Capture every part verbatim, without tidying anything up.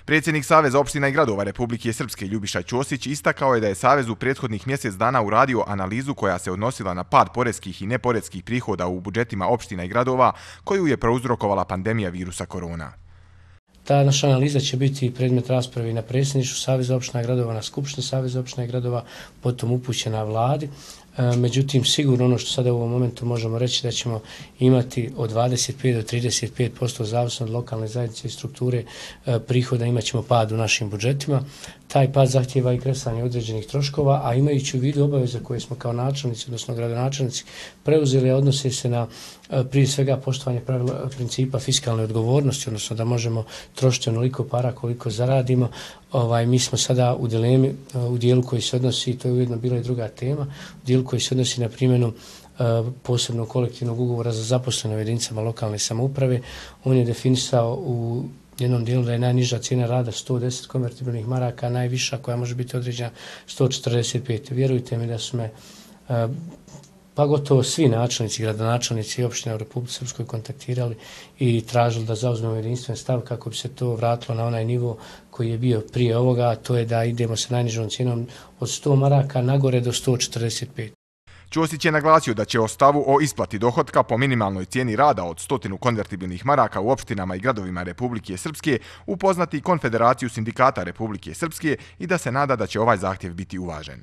Predsjednik Saveza opština i gradova Republike Srpske Ljubiša Ćosić istakao je da je Savez u prethodnih mjesec dana uradio analizu koja se odnosila na pad poreskih i neporeskih prihoda u budžetima opština i gradova koju je prouzrokovala pandemija virusa korona. Ta naša analiza će biti predmet rasprave na predsjedništvu Saveza opština i gradova, na Skupštini Saveza opština i gradova, potom upućena vladi. Međutim, sigurno ono što sada u ovom momentu možemo reći da ćemo imati od dvadeset pet do trideset pet posto zavisno od lokalne zajednice i strukture prihoda imat ćemo pad u našim budžetima. Taj pad zahtjeva i kresanje određenih troškova, a imajući u vidu obaveze koje smo kao načelnici, odnosno gradonačelnici preuzeli, odnose se na prije svega poštovanje pravila principa fiskalne odgovornosti, odnosno da možemo trošiti onoliko para koliko zaradimo. Ovaj, mi smo sada u dilemi, u dijelu koji se odnosi, to je ujedno bila i druga tema, u dijelu koji se odnosi na primjenu posebnog kolektivnog ugovora za zaposlene u jedinicama lokalne samouprave. On je definisao u jednom dijelu da je najniža cijena rada sto deset konvertibilnih maraka, najviša koja može biti određena sto četrdeset pet. Vjerujte mi da su me pa gotovo svi načelnici, gradonačelnici i opštine u Republici Srpskoj kontaktirali i tražili da zauzmemo jedinstven stav kako bi se to vratilo na onaj nivo koji je bio prije ovoga, a to je da idemo sa najnižom cijenom od sto maraka nagore do sto četrdeset pet. Ćosić je naglasio da će o stavu o isplati dohotka po minimalnoj cijeni rada od stotinu konvertibilnih maraka u opštinama i gradovima Republike Srpske upoznati Konfederaciju sindikata Republike Srpske i da se nada da će ovaj zahtjev biti uvažen.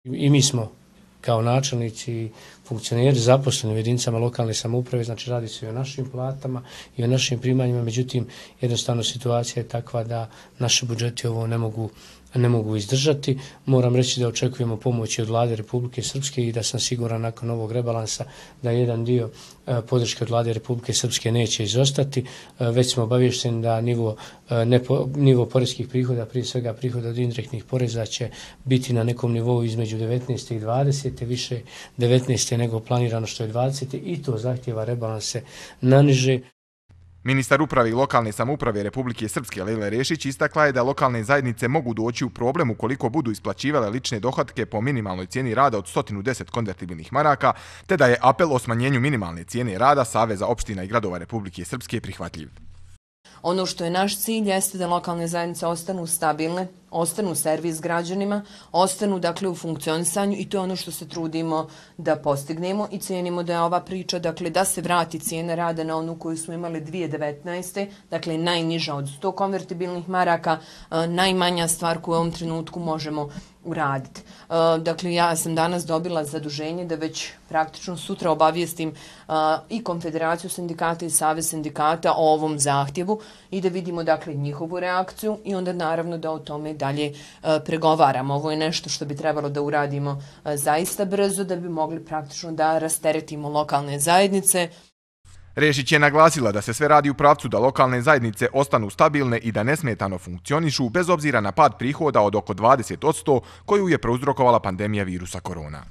I mi smo kao načelnici i funkcioneri zaposleni u jedinicama lokalne samouprave, znači radi se i o našim platama i o našim primanjima, međutim jednostavno situacija je takva da naši budžeti ovo ne mogu ne mogu izdržati. Moram reći da očekujemo pomoći od Vlade Republike Srpske i da sam siguran nakon ovog rebalansa da jedan dio podrške od Vlade Republike Srpske neće izostati. Već smo obavješteni da nivo, nepo, nivo poreskih prihoda, prije svega prihoda od indirektnih poreza će biti na nekom nivou između devetnaeste i dvadesete, više devetnaeste nego planirano što je dvadesete i to zahtjeva rebalanse naniže. Ministar uprave i lokalne samouprave Republike Srpske Lejla Rešić istakla je da lokalne zajednice mogu doći u problem ukoliko budu isplaćivale lične dohotke po minimalnoj cijeni rada od sto deset konvertibilnih maraka, te da je apel o smanjenju minimalne cijene rada Saveza opština i gradova Republike Srpske prihvatljiv. Ono što je naš cilj jeste da lokalne zajednice ostanu stabilne, ostanu servis građanima, ostanu dakle u funkcionisanju i to je ono što se trudimo da postignemo i cijenimo da je ova priča dakle da se vrati cijena rada na onu koju smo imali dvije tisuće devetnaeste. Dakle najniža od sto konvertibilnih maraka, najmanja stvar koju u ovom trenutku možemo uraditi. Dakle, ja sam danas dobila zaduženje da već praktično sutra obavijestim i Konfederaciju sindikata i Savez sindikata o ovom zahtjevu i da vidimo dakle njihovu reakciju i onda naravno da o tome dalje pregovaramo. Ovo je nešto što bi trebalo da uradimo zaista brzo da bi mogli praktično da rasteretimo lokalne zajednice. Rešić je naglasila da se sve radi u pravcu da lokalne zajednice ostanu stabilne i da nesmetano funkcionišu bez obzira na pad prihoda od oko dvadeset posto koju je prouzrokovala pandemija virusa korona.